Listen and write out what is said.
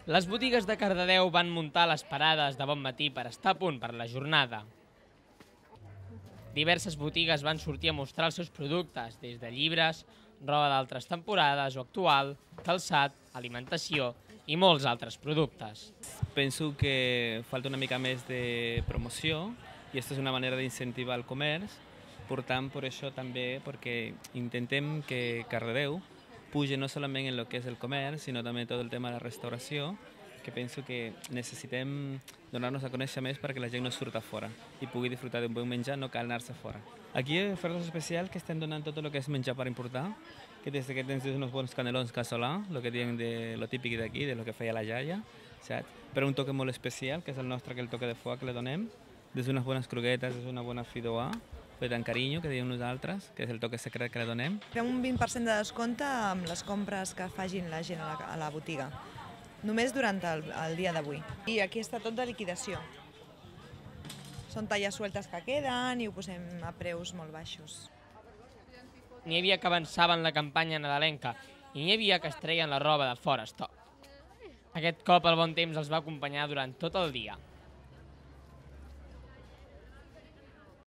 Les botigues de Cardedeu van muntar les parades de bon matí per estar a punt per la jornada. Diverses botigues van sortir a mostrar els seus productes, des de llibres, roba d'altres temporades o actual, calçat, alimentació i molts altres productes. Penso que falta una mica més de promoció i aquesta és una manera d'incentivar el comerç. Per tant, per això també, perquè intentem que Cardedeu puja no solament en el que és el comerç, sinó també tot el tema de la restauració, que penso que necessitem donar-nos a conèixer més perquè la gent no surta fora i pugui disfrutar d'un bon menjar, no cal anar-se fora. Aquí hi ha ofertes especials que estem donant tot el que és menjar per importar, que des que tens uns bons canelons casolà, el que diuen de lo típic d'aquí, de lo que feia la iaia, saps? Però un toque molt especial, que és el nostre, que el toque de foie que le donem, des d'unes bones croquetes, des d'una bona fideuà, fet amb carinyo, que diem nosaltres, que és el toque secret que le donem. Fem un 20% de descompte amb les compres que facin la gent a la botiga, només durant el dia d'avui. I aquí està tot de liquidació. Són talles sueltes que queden i ho posem a preus molt baixos. N'hi havia que avançaven la campanya nadalenca i n'hi havia que es treien la roba de fora estoc. Aquest cop el bon temps els va acompanyar durant tot el dia.